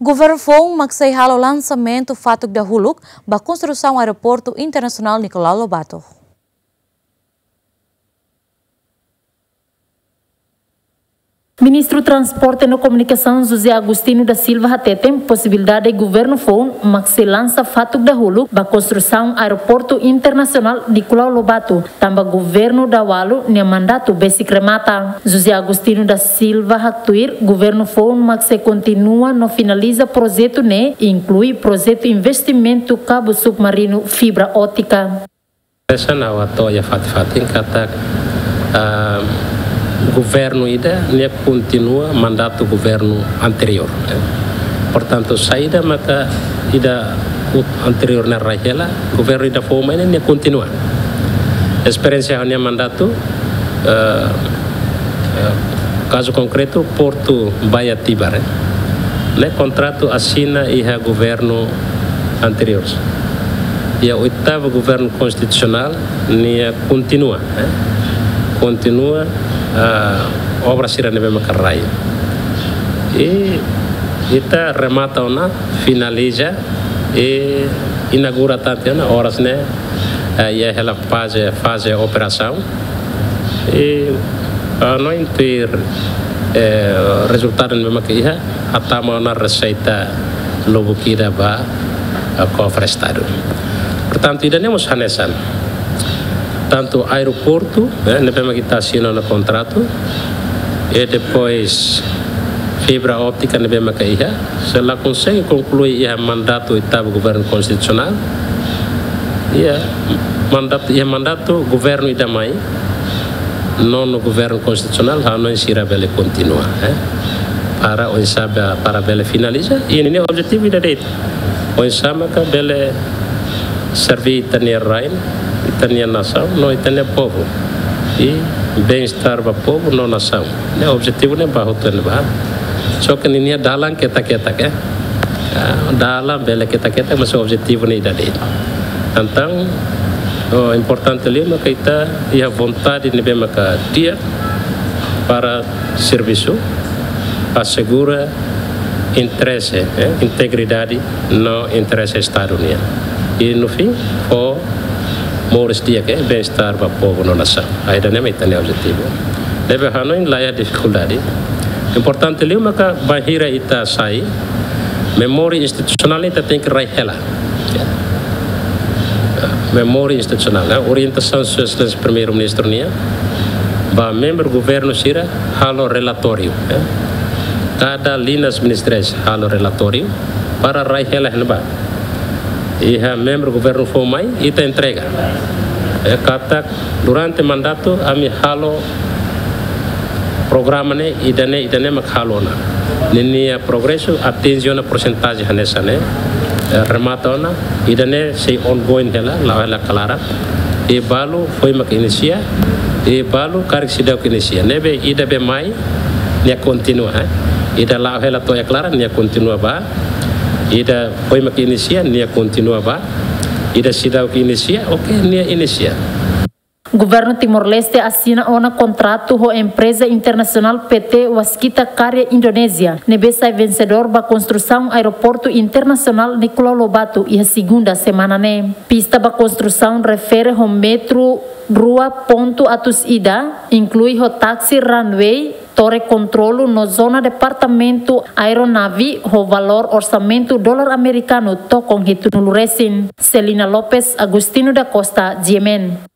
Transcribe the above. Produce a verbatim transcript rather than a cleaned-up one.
Governu foun mak sei halo lansamentu fatuk dahuluk ba konstrusaun Aeroportu Internasionál Nicolau Lobato. Ministru Transporte no Komunikasaun José Agostinho da Silva hateten posibilidade governu foun mak sei lansa fatuk dahuluk ba konstrusaun Aeroportu Internasionál Nicolau Lobato, tanba governu daualu nia mandatu besik remata. José Agostinho da Silva haktuir, governu foun mak sei kontinua no finaliza projetu ne'e, inklui projetu investimentu kabu submarinu fibra ótika. Hanesan ha'u hato'o iha fatin-fatin katak, ah, governu ida ne'e kontinua mandatu governu anteriór, eh. Portantu, saida maka ida anteriór ne'e rai hela, governu ida foun mai ne'e kontinua. Esperiénsia ha'u-nia mandatu, eh, eh, kazu konkretu, Portu Baía Tíbar, eh. Ne'e kontratu asina iha governu anteriór. Iha oitavu governu konstitusionál, nia kontinua, eh. Kontinua, ah, obra sira ne'ebé maka rai. I ita remata ona, finaliza, i inaugura tan tiha ona, oras ne'e, eh, iha hela faze, faze operasaun. I, ah, no inter, eh, rezultadu ne'ebé maka iha, hatama ona reseita lubuk ida ba, eh, kofre Estadu. Portantu, ida-ne'e mós hanesan. Tantu aeroportu, eh, ne'ebé maka ita asina ona kontratu, i depois fibra ótika ne'ebé maka iha, se la konsege konklui iha mandatu oitavu governu konstitusionál. Iha mandatu, iha mandatu governu ida mai, nonu governu konstitusionál, ha'u hanoin sira bele kontinua, eh. Para oinsá ba, para bele finaliza, i ninia objetivu ida de'it. Oinsá maka bele serve ita-nia rain, ita-nia nasaun, no ita-nia povu. I bem-estar ba povu no nasaun. Ne'e objetivu ne'e ba hotu ne'ebá. Só ke ninia dalan ketak-ketak, eh. Ah, dalan bele ketak-ketak, mas objetivu ne'e ida de'it. Entaun, oh, importante liu maka ita iha vontade ne'ebé maka di'ak para servisu, asegura interese, eh, integridade no interese Estadu nian. I no fim, fó moris di'ak, eh, bem-estar ba povu no nasaun. Ida-ne'e mak ita-nia objetivu. Ne'ebé ha'u hanoin laiha difikuldade. Importante liu maka bainhira ita sai, memória institusionál ita tenke rai hela. Memória institusionál, eh, orientasaun Sua Exelénsia Primeiru-Ministru nian ba membru governu sira halo relatóriu, eh. Kada liñas ministeriais halo relatóriu para rai hela iha ne'ebá. Iha membru governu foun mai, ita entrega. Eh, katak durante mandatu ami halo programa ne'e, ida-ne'e, ida-ne'e mak halo ona. Ninia progresu atinje ona porsentajen hanesan ne'e, eh, remata ona, ida-ne'e sei ongoing hela, la'o hela klaran. I balu foin mak inisia, i balu karik seidauk inisia. Ne'ebé ida be mai, nia kontinua, eh. Ida la'o hela to'o iha klaran, nia kontinua ba. Ida foin mak inisia, nia kontinua ba. Ida seidauk inisia, oke, nia inisia. Governu Timor-Leste asina ona kontratu ho empreza internasionál P T Waskita Karya Indonézia, ne'ebé sai vensedór ba konstrusaun Aeroportu Internasionál Nicolau Lobato iha segunda semana ne'e. Pista ba konstrusaun refere ho metru rua pontu atus ida, inklui ho taxi runway, tore kontrolu no zona departamentu aeronave ho valór orsamentu dolar amerikanu tokon hitunulu resin. Celina Lopes, Agostinho da Costa, G M N.